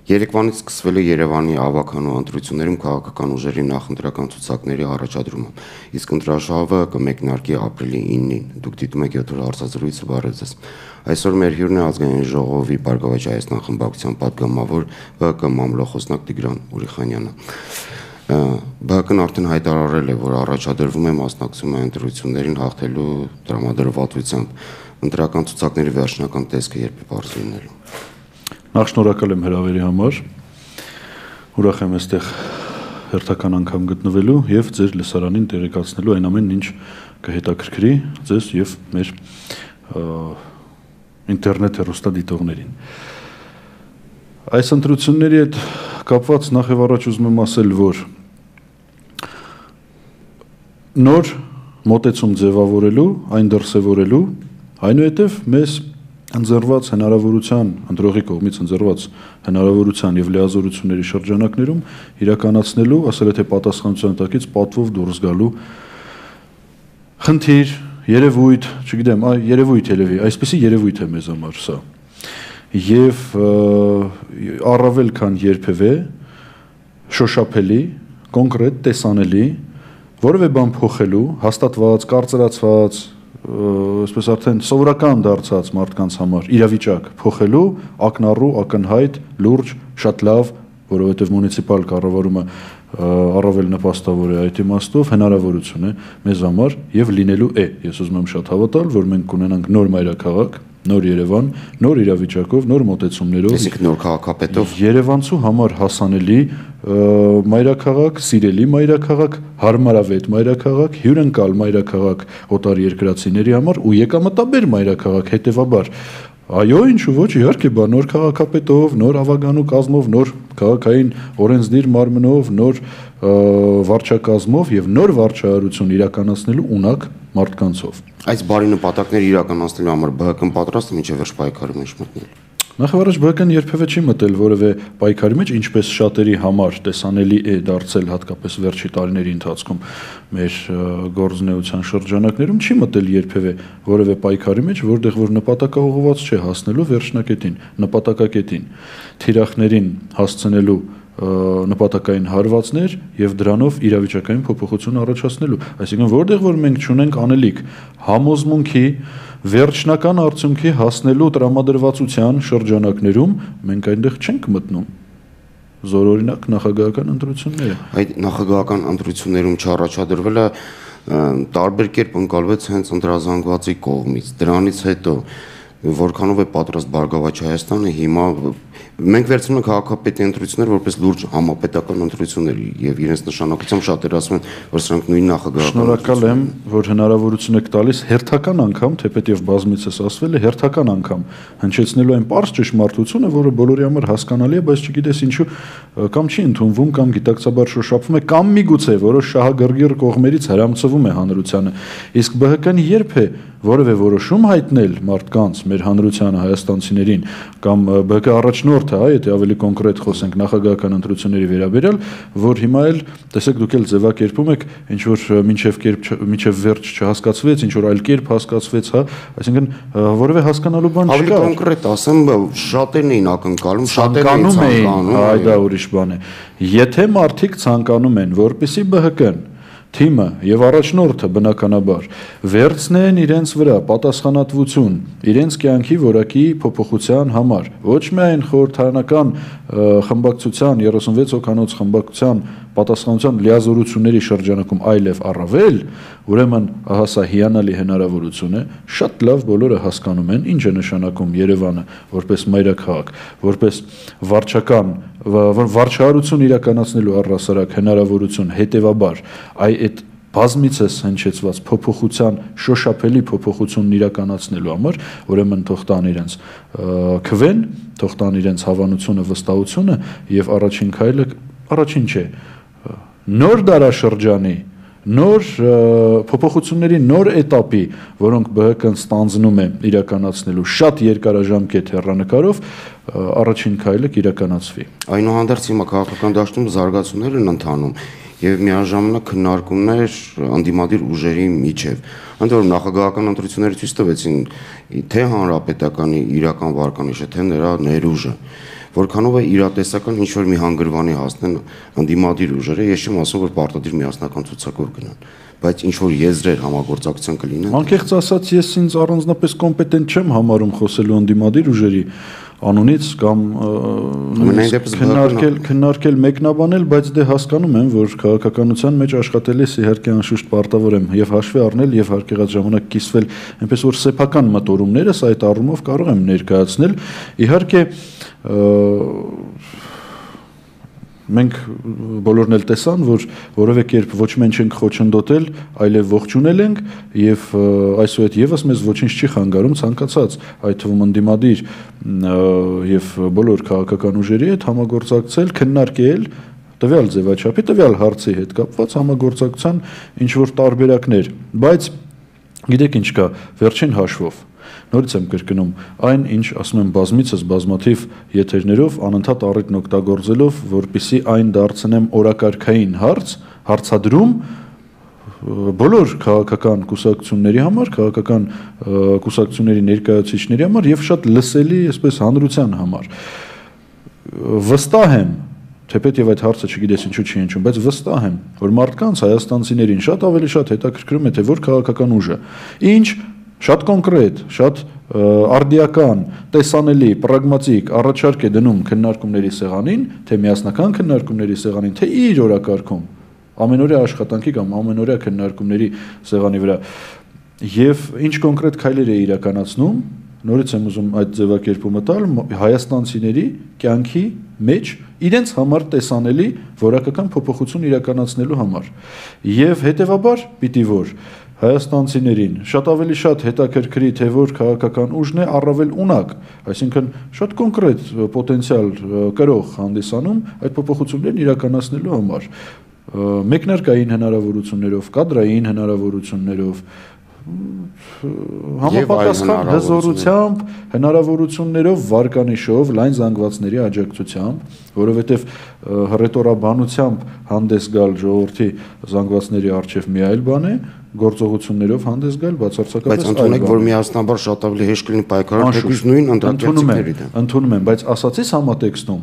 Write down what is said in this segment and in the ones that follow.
Երեկվանից սկսվել է Երևանի ավականու ընտրություններում քաղաքական ուժերի նախընտրական ցուցակների առաջադրումը, իսկ ընտրաշավը կմեկնարկի ապրիլի 9-ին։ Դուք դիտում եք 7 օր հարցազրույցը, բարև ձեզ։ Այսօր մեր հյուրն է Ազգային ժողովի Բարգավաճ Հայաստան խմբակցության պատգամավոր ԲՀԿ մամլոխոսնակ Տիգրան Ուրիխանյանը։ ԲՀԿ-ն արդեն հայտարարել է, որ առաջադրվում է մասնակցում ընտրություններին հաղթելու տրամադրվածությամբ։ Ընտրական ցուցակների վերջնական տեսքը երբ է բարձր լինելու։ Նախ շնորհակալ եմ հրավերի համար, ուրախ եմ այստեղ հերթական անգամ գտնվելու և ձեր լսարանին տեղեկացնելու այն ամենն, ինչ կհետաքրքրի ձեզ և մեր ինտերնետ հեռուստադիտողներին։ Այս ընտրությունների հետ կապված նախ և առաջ ուզում եմ ասել, որ նոր մոտեցում ձևավորելու, այն դրսևորելու, այնուհետև մեզ ընձեռված հնարավորության, ընտրողի կողմից ընձեռված հնարավորության և լիազորությունների շրջանակներում իրականացնելու, ասել է թե պատասխանատվության տակից պատվով դուրս գալու խնդիր, երևույթ, չգիտեմ, երևույթ ելևի, այսպիսի երևույթ է մեզ համար սա։ Եվ առավել քան երբևէ շոշափելի, կոնկրետ, տեսանելի, որևէ բան փոխելու, հաստատված, կարծրացված, այսպես արդեն սովորական դարձած մարդկանց համար իրավիճակ փոխելու, ակնառու, ակնհայտ, լուրջ, շատ լավ, որովհետև մունիցիպալ կառավարումը առավել նպաստավոր է այդ իմաստով, հնարավորություն է մեզ համար և լինելու է։ Ես ուզում եմ շատ հավատալ, որ մենք կունենանք նոր մայրաքաղաք, նոր Երևան, նոր իրավիճակով, նոր մոտեցումներով, այսինքն նոր քաղաքապետով, Երևանցու համար հասանելի մայրաքաղաք, սիրելի մայրաքաղաք, հարմարավետ մայրաքաղաք, հյուրընկալ մայրաքաղաք օտար երկրացիների համար ու եկամտաբեր մայրաքաղաք, հետևաբար այո, ինչու ոչ, իհարկե, նոր քաղաքապետով, նոր ավագանու կազմով, նոր քաղաքային օրենսդիր մարմնով, նոր վարչակազմով և նոր վարչարարություն իրականացնելու ունակ մարդկանցով։ Այս բարի նպատակները իրականացնելու համար ԲՀԿ-ն պատրաստ է մինչև վերջ պայքարի մեջ մտնել։ Նախ եւ առաջ ԲՀԿ-ն երբևէ չի մտել որևէ պայքարի մեջ, ինչպես շատերի համար տեսանելի է դարձել հատկապես վերջի տարիների ընթացքում մեր գործունեության շրջանակներում, չի մտել երբևէ որևէ պայքարի մեջ, որտեղ որ նպատակաուղղված չէ հասնելու վերջնակետին, նպատակակետին, թիրախներին հասցնելու նպատակային հարվածներ և դրանով իրավիճակային փոփոխություն առաջացնելու, այսինքն որտեղ որ մենք չունենք անելիք համոզմունքի վերջնական արդյունքի հասնելու տրամադրվածության շրջանակներում մենք այնտեղ չենք մտնում, զորօրինակ նախագահական ընտրությունները։ Այդ նախագահական ընտրություններում չառաջադրվելը տարբեր կերպ ընկալվեց հենց ընտրազանգվածի կողմից, դրանից հետո որքանով է պատրաստ Բարգավաճ Հայաստանը հիմա մենք վերցնում ենք քաղաքապետի ընտրություններ որպես լուրջ համապետական ընտրություններ եւ իրենց նշանակությամբ շատերը ասում են, որ սրանք նույն նախագահական։ Շնորհակալ եմ, որ հնարավորություն եք տալիս հերթական անգամ, թեպետև բազմիցս ասվել է, հերթական անգամ հնչեցնելու այն պարզ ճշմարտությունը, որը բոլորի համար հասկանալի է, բայց չգիտես ինչու կամ չի ընդունվում, կամ գիտակցաբար շոշափվում է, կամ միգուցե որոշ շահագրգիռ կողմերից հրամցվում է հանրությանը։ Իսկ ԲՀԿ-ն երբ է որևէ որոշում հայտնել մարդկանց, մեր հանրությանը, հայաստանցիներին, կամ ԲՀԿ առաջնորդը, եթե ավելի կոնկրետ խոսենք նախագահական ընտրությունների վերաբերյալ, որ հիմա էլ, տեսեք, դուք էլ ձևակերպում եք, ինչ որ մինչև վերջ չհասկացվեց, ինչ որ այլ կերպ հասկացվեց, հա, այսինքն որևէ հասկանալու բան չկա։ Ավելի կոնկրետ ասեմ, շատերն էին ակնկալում, շատերն էին ցանկանում, այ դա ուրիշ բան է։ Եթե մարդիկ ցանկանում են, որպեսզի ԲՀԿ-ն թիմը եւ առաջնորդը բնականաբար վերցնեն իրենց վրա պատասխանատվություն իրենց կյանքի որակի փոփոխության համար, ոչ միայն խորհրդարանական խմբակցության 36 հոգանոց խմբակցության պատասխանատվության լիազորությունների շրջանակում, այլև առավել, ուրեմն ահա սա հիանալի հնարավորություն է, շատ լավ բոլորը հասկանում են ինչ է նշանակում Երևանը որպես մայրաքաղաք, որպես վարչարարություն իրականացնելու առհասարակ հնարավորություն, հետևաբար այդ բազմիցս հնչեցված փոփոխության շոշափելի փոփոխությունն իրականացնելու համար, ուրեմն թող տան իրենց քվեն, թող տան իրենց հավանությունը, վստահությունը եւ առաջին քայլը, առաջին չէ, նոր դարաշրջանի, նոր փոփոխությունների նոր էտապի, որոնք ԲՀԿ-ն ստանձնում է իրականացնելու շատ երկարաժամկետ հեռանկարով, առաջին քայլը կիրականացվի։ Այնուհանդերձ հիմա քաղաքական դաշտում զարգացումներ են ընթանում եւ միաժամանակ քննարկումներ անդիմադիր ուժերի միջև։ Ընդ որում նախագահական ընտրությունները ցույց տվեցին թե հանրապետականի իրական վարկանիշը, թե նրա ներուժը։ որքանով է իրատեսական ինչ-որ մի հանգրվանի հասնեն ընդդիմադիր ուժերը, ես չեմ ասում, որ պարտադիր միասնական ցուցակով գնան, բայց ինչ-որ եզրեր համագործակցության կլինեն։ Անկեղծ ասած, ես ինձ առանձնապես կոմպետենտ չեմ համարում խոսելու ընդդիմադիր ուժերի անունից կամ քննարկել մեկնաբանել, բայց դե հասկանում եմ, որ քաղաքականության մեջ աշխատելիս իհարկե անշուշտ պարտավոր եմ եւ հաշվի առնել եւ հարկեղած ժամանակ կիսվել, այնպես որ սեփական մտորումներս այդ առումով կարող եմ ներկայացնել։ Իհարկե մենք բոլորն էլ տեսան, որ որևէ կերպ ոչ մենք չենք խոչընդոտել, այլև ողջունել ենք եւ այսուհետ եւս մեզ ոչինչ չի խանգարում ցանկացած այդ թվում ընդդիմադիր եւ բոլոր քաղաքական ուժերի հետ համագործակցել, քննարկել տվյալ ձևաչափի, տվյալ հարցի հետ կապված համագործակցության ինչ որ տարբերակներ, բայց գիտեք ինչ կա, վերջին հաշվով նորից եմ կրկնում, այն ինչ ասում եմ բազմիցս բազմաթիվ եթերներով անընդհատ առիթն օգտագործելով, որպեսզի այն դարձնեմ օրակարգային հարց, հարցադրում բոլոր քաղաքական կուսակցությունների համար, քաղաքական կուսակցությունների ներկայացուցիչների համար եւ շատ լսելի, այսպես հանրության համար։ Վստահ եմ, թեպետ եւ այդ հարցը չգիտես ինչու չի հնչում, բայց վստահ եմ, որ մարդկանց հայաստանցիներին շատ ավելի շատ հետաքրքրում է թե որ քաղաքական ուժը ինչ շատ կոնկրետ, շատ արդիական, տեսանելի, պրագմատիկ առաջարկ է դնում քննարկումների սեղանին, թե միասնական քննարկումների սեղանին, թե իր օրակարգում, ամենօրյա աշխատանքի կամ ամենօրյա քննարկումների սեղանի վրա։ Եվ ինչ կոնկրետ քայլեր է իրականացնում, նորից եմ ուզում այդ ձևակերպումը տալ, հայաստանցիների կյանքի մեջ իրենց համար տեսանելի որակական փոփոխություն իրականացնելու համար։ Եվ հետևաբար պիտի որ հայաստանցիներին շատ ավելի շատ հետաքրքրի թե որ քաղաքական ուժն է առավել ունակ, այսինքն շատ կոնկրետ պոտենցիալ կրող հանդիսանում այդ փոփոխություններն իրականացնելու համար, մեկնարկային հնարավորություններով, կադրային հնարավորություններով, համապատասխան հզորությամբ, հնարավորություններով, վարկանիշով, լայն զանգվածների աջակցությամբ, որովհետև հռետորաբանությամբ հանդես գալ ժողովրդի զանգվածների առջև մի այլ բան է, գործողություններով հանդես գալ բացարձակապես այլ բան է։ Բայց ընդունեք, որ միասնաբար շատ ավելի հեշտ կլինի պայքարել թեկուզ նույն ընտրակերտիկների դեմ։ Ընդունում եմ, բայց ասացիս համատեքստում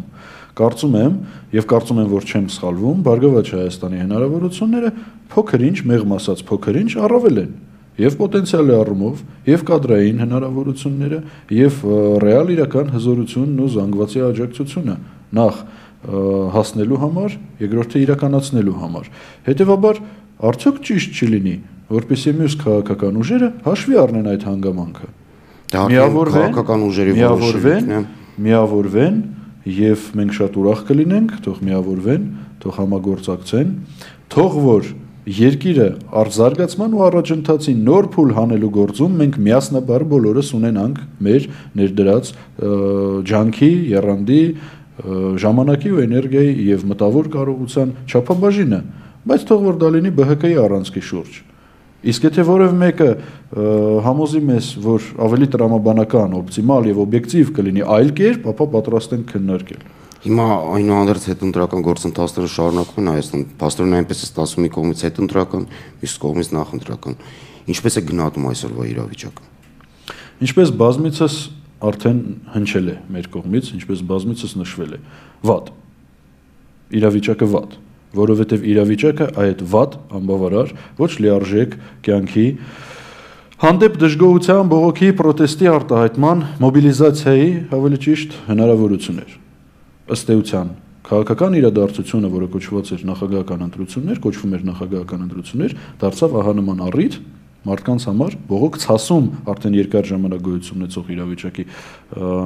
կարծում եմ եւ կարծում եմ, որ չեմ սխալվում, Բարգավաճ Հայաստանի հնարավորությունները փոքր-ինչ, մեղմ ասած փոքր-ինչ առավել են եւ պոտենցիալի առումով, եւ կադրային հնարավորությունները, եւ ռեալ իրական հզորությունն ու զանգվածի աջակցությունը նախ հասնելու համար, երկրորդը իրականացնելու համար։ Հետևաբար արդյոք ճիշտ չի լինի, որպեսզի մյուս քաղաքական ուժերը հաշվի առնեն այդ հանգամանքը։ Միավորվեն եւ մենք շատ ուրախ կլինենք, թող միավորվեն, թող համագործակցեն, թող որ երկիրը արձարգացման ու առաջընթացի նոր փուլ հանելու գործում մենք միասնաբար բոլորս ունենանք մեր ներդրած ջանքի, եռանդի, ժամանակի ու էներգիայի եւ մտավոր կարողության չափաբաժինը, բայց թող որ դա լինի ԲՀԿ-ի առանցքի շուրջ։ Իսկ եթե որևէ մեկը համոզի մեզ, որ ավելի տրամաբանական, օպտիմալ եւ օբյեկտիվ կլինի այլ կերպ, ապա պատրաստ ենք քննարկել։ Հիմա այնուհանդերձ հետընտրական գործընթացները շարունակվում են Հայաստանում, փաստորեն այնպես է ստացվում մի կողմից հետընտրական, մյուս կողմից նախընտրական։ Ինչպես է գնահատում այսօրվա իրավիճակը։ Ինչպես բազմիցս արդեն հնչել է մեր կողմից, ինչպես բազմիցս նշվել է, վատ։ Իրավիճակը վատ, որովհետև իրավիճակը այդ վատ, անբավարար, ոչ լիարժեք կյանքի հանդեպ դժգոհության, բողոքի, պրոտեստի արտահայտման, մոբիլիզացիայի, ավելի ճիշտ հնարավորություն էր։ Ըստ էության քաղաքական իրադարձությունը, որը կոչվում էր նախագահական ընտրություններ, դարձավ ահա նման առիթ մարդկանց համար բողոք ցասում արդեն երկար ժամանակ գոյություն ունեցող իրավիճակի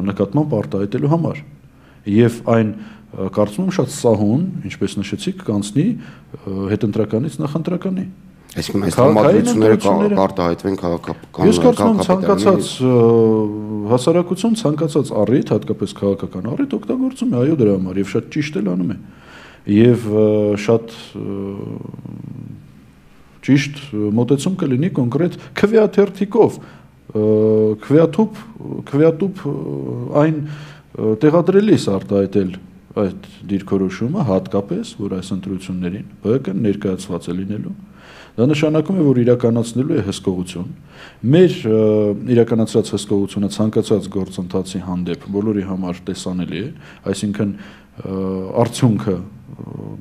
նկատմամբ արտահայտելու համար։ Եվ այն կարծում եմ շատ սահուն, ինչպես նշեցիք, կանցնի հետընտրականից նախընտրականի։ Այսինքն այս համադրությունները կարտահայտվեն քաղաքական։ Ես կարծում եմ ցանկացած հասարակություն ցանկացած առիթ, հատկապես քաղաքական առիթ օգտագործում է այո դրա համար եւ շատ ճիշտ էլ անում է։ Եվ շատ ճիշտ մոտեցում կլինի կոնկրետ քվեաթերթիկով, քվեատուփ այն տեղադրելիս արտահայտել այդ դիրքորոշումը հատկապես, որ այս ընտրություններին ԲՀԿ-ն ներկայացված է լինելու, Դա նշանակում է, որ իրականացնելու է հսկողություն։ Մեր իրականացրած հսկողությունը ցանկացած գործընթացի հանդեպ բոլորի համար տեսանելի է, այսինքն արդյունքը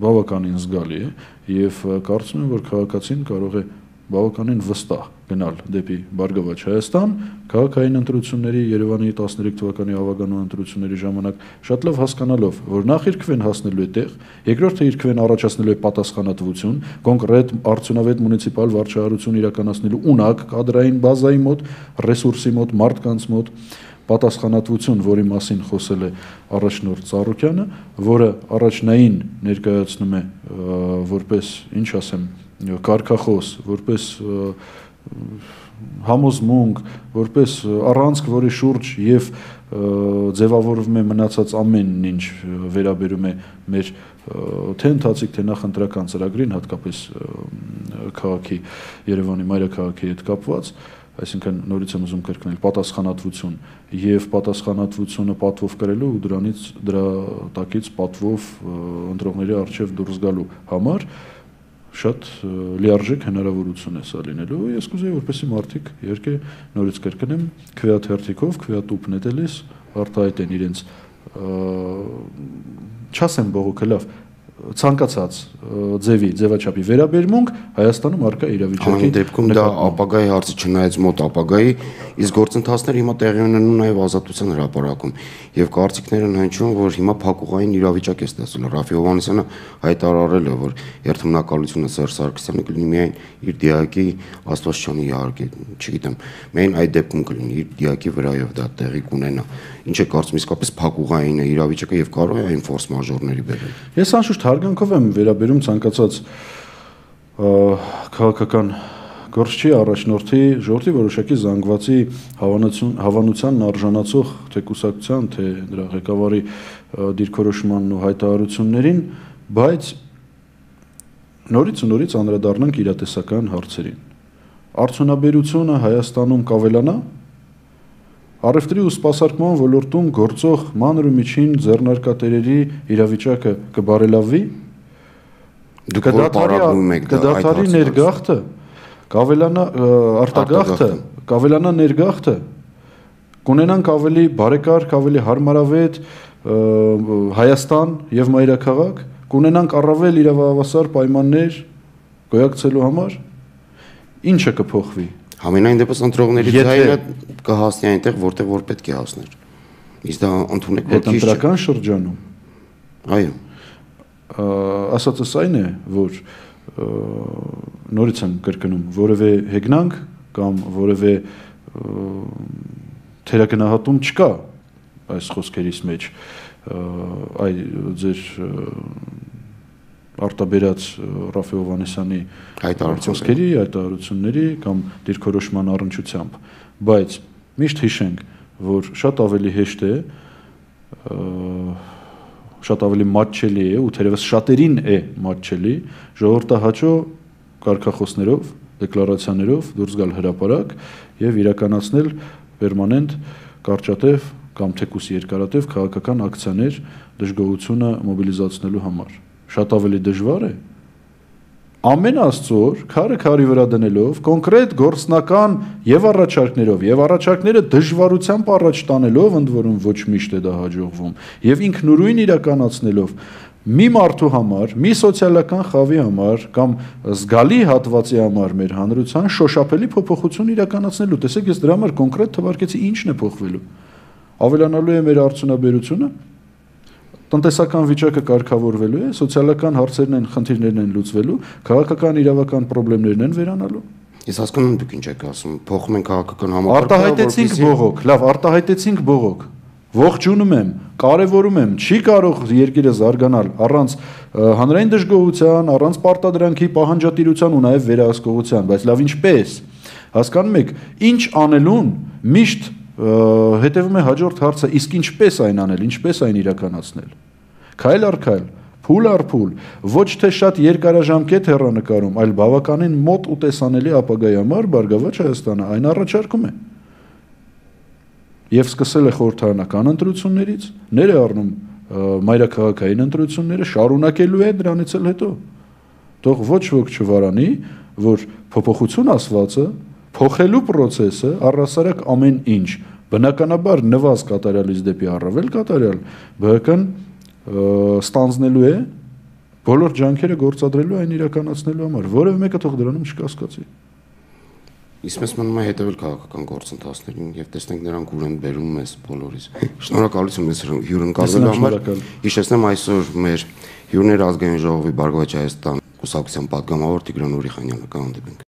բավականին զգալի է եւ կարծում եմ, որ քաղաքացին կարող է բավականին վստահ գնալ դեպի Բարգավաճ Հայաստան, քաղաքային ընտրությունների Երևանի 13 թվականի ավագանու ընտրությունների ժամանակ շատ լավ հասկանալով, որ նախ երկվեն հասնելու է տեղ, երկրորդը երկվեն առաջացնելու է պատասխանատվություն, կոնկրետ արդյունավետ մունիցիպալ վարչահարություն իրականացնելու ունակ, կադրային բազայի մոտ, ռեսուրսի մոտ, մարդկանց մոտ, պատասխանատվություն, որի մասին խոսել է առաջնորդ Ծառուկյանը, որը առաջնային ներկայացնում է որպես, ինչ ասեմ, կարգախոս, որպես համոզմունք, որպես առանցք, որի շուրջ եւ ձևավորվում է մնացած ամեն ինչ վերաբերում է մեր թե ընթացիկ, թե նախընտրական ծրագրին, հատկապես քաղաքի Երևանի մայրաքաղաքի հետ կապված, այսինքն նորից եմ ուզում կրկնել պատասխանատվություն եւ պատասխանատվությունը պատվով կրելու ու դրա տակից պատվով ընտրողների առջև դուրս գալու համար շատ լիարժեք հնարավորություն է սա լինելու։ Ես կուզեի, որպեսզի մարդիկ իհարկե նորից կրկնեմ, քվեաթերթիկով, քվեատուփ նետելիս արտահայտեն իրենց չասեմ բողոքը լավ, ցանկացած ձևաչափի վերաբերմունք Հայաստանում առկա իրավիճակի դեպքում դա ապագայի հարցը չնայած մոտ ապագայի, իսկ գործընթացները հիմա տեղի ունենում նաև Ազատության հրապարակում եւ կարծիքներն հնչում, որ հիմա փակուղային իրավիճակ է ստացել։ Ռաֆի Հովհաննիսյանը հայտարարել է, որ երթմնակալությունը Սերժ Սարգսյանը կլինի միայն իր դիակի Աստվածչյանի իհարկե, չգիտեմ, միայն այդ դեպքում կլինի իր դիակի վրայով դա տեղի կունենա։ Ինչ է կարծում, իսկապես փակուղային է իրավիճակը եւ կարող է այն ֆորս մաժորների բերել։ Ես անշուշտ հարգանքով եմ վերաբերում ցանկացած քաղաքական գործչի առաջնորդի ժողովրդի որոշակի զանգվածի հավանությանն արժանացող թե կուսակցության, թե դրա ղեկավարի դիրքորոշմանն ու հայտարարություններին, բայց նորից ու նորից անդրադառնանք իրատեսական հարցերին։ Արդյունաբերությունը Հայաստանում կավելանա, առևտրի ու սպասարկման ոլորտում գործող մանր ու միջին ձեռնարկատերերի իրավիճակը կբարելավվի, կդադարի ներգաղթը, կավելանա արտագաղթը, կավելանա ներգաղթը, կունենանք ավելի բարեկարգ, ավելի հարմարավետ Հայաստան եւ մայրաքաղաք, կունենանք առավել իրավահավասար պայմաններ գոյակցելու համար, ինչը կփոխվի։ Համենայն դեպս ընտրողների ձայնը կհասնի այնտեղ, որտեղ որ պետք է հասներ։ Իսկ դա ընդունեք որ քիչ հետընտրական շրջանում։ Այո։ Ասածս այն է, որ նորից եմ կրկնում, որևէ հեգնանք կամ որևէ թերագնահատում չկա այս խոսքերիս մեջ, այ ձեր արտաբերած Ռաֆի Հովհաննիսյանի խոսքերի, հայտարարությունների կամ դիրքորոշման առնչությամբ, բայց միշտ հիշենք, որ շատ ավելի հեշտ է, շատ ավելի մատչելի է ու թերևս շատերին է մատչելի ժողովրդահաճո կարգախոսներով, դեկլարացիաներով դուրս գալ հրապարակ եւ իրականացնել պերմանենտ կարճատև կամ թեկուս երկարատև քաղաքական ակցիաներ դժգոհությունը մոբիլիզացնելու համար։ Շատ ավելի դժվար է ամեն աստծոր քարը քարի վրա դնելով կոնկրետ գործնական եւ առաջարկներով եւ առաջարկները դժվարությամբ առաջ տանելով, ընդ որում ոչ միշտ է դա հաջողվում, եւ ինքնուրույն իրականացնելով մի մարդու համար, մի սոցիալական խավի համար կամ զգալի հատվածի համար մեր հանրության շոշափելի փոփոխություն իրականացնելու։ Տեսեք, ես դրա համար կոնկրետ թվարկեցի ինչն է փոխվելու։ Ավելանալու է մեր արդյունաբերությունը, տնտեսական վիճակը կարգավորվելու է, սոցիալական հարցերն են, խնդիրներն են լուծվելու, քաղաքական իրավական խնդիրներն են վերանալու։ Ես հասկանում եմ դուք ինչ եք ասում, փոխում են քաղաքական համակարգը, արտահայտեցինք բողոք, լավ, արտահայտեցինք բողոք։ Ողջունում եմ, կարևորում եմ, չի կարող երկիրը զարգանալ առանց հանրային դժգոհության, առանց պարտադրանքի, պահանջատիրության ու նաև վերահսկողության, բայց լավ ինչպես։ Հասկանում եք, ինչ անելուն միշտ հետևում է հաջորդ հարցը, իսկ ինչպես այն անել, ինչպես այն իրականացնել։ Քայլ առ քայլ, փուլ առ փուլ, ոչ թե շատ երկարաժամկետ հեռանկարում, այլ բավականին մոտ ու տեսանելի ապագայի համար Բարգավաճ Հայաստանը այն առաջարկում է։ Եվ սկսել է խորհրդարանական ընտրություններից, ներառնում մայրաքաղաքային ընտրությունները, շարունակելու է դրանից էլ հետո։ Թող ոչ ոք չվարանի, որ փոփոխություն ասվածը, փոխելու process-ը առհասարակ ամեն ինչ, բնականաբար նվազ կատարյալից դեպի առավել կատարյալ, բնական ստանձնելու է բոլոր ջանքերը գործադրելու այն իրականացնելու համար, որևէ մեկը թող դրանում չկասկածի։ Իսկ մեզ մնում է հետևել քաղաքական գործընթացներին եւ տեսնենք նրանք ուր են բերում մեզ բոլորիս։ Շնորհակալություն մեզ հյուրընկալվելու համար։ Հիշեցնեմ այսօր մեր հյուրներ ազգային ժողովի Բարգավաճ Հայաստան կուսակցության պատգամավոր Տիգրան Ուրիխանյանը, կհանդիպենք։